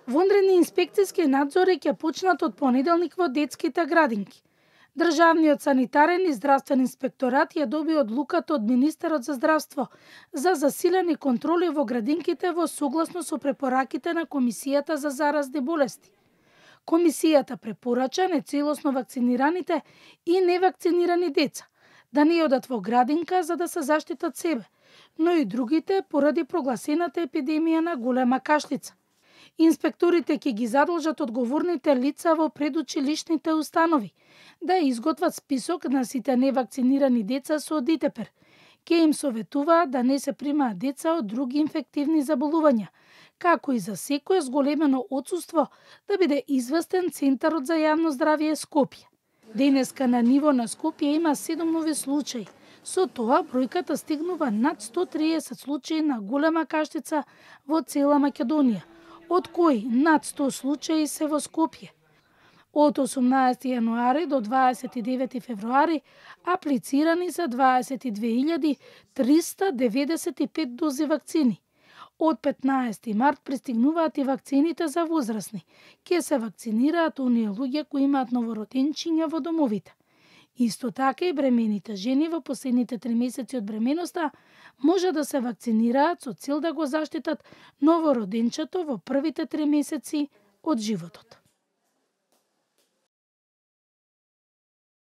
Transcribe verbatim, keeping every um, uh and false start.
Вонредни инспекцијски надзори ќе почнат од понеделник во детските градинки. Државниот санитарен и здравствен инспекторат ја доби одлуката од министерот за здравство за засилени контроли во градинките во согласно со препораките на Комисијата за заразни болести. Комисијата препорача нецелосно вакцинираните и невакцинирани деца да не одат во градинка за да се заштитат себе, но и другите поради прогласената епидемија на голема кашлица. Инспекторите ќе ги задолжат одговорните лица во предучилишните установи да изготват список на сите невакцинирани деца со дитепер. Ке им советуваат да не се примаат деца од други инфективни заболувања, како и за секое зголемено отсуство да биде известен Центарот за јавно здравје Скопје. Денеска на ниво на Скопје има седум нови случаи. Со тоа бројката стигнува над сто триесет случаи на голема каштица во цела Македонија, од кои над сто случаи се во Скопје. Од осумнаесети јануари до дваесет и девети февруари аплицирани се дваесет и две илјади триста деведесет и пет дози вакцини. Од петнаесети март пристигнуваат и вакцините за возрастни. Ке се вакцинираат оние луѓе кои имаат новороденчиња во домовите. Исто така и бремените жени во последните три месеци од бременоста може да се вакцинираат со цел да го заштитат новороденчето во првите три месеци од животот.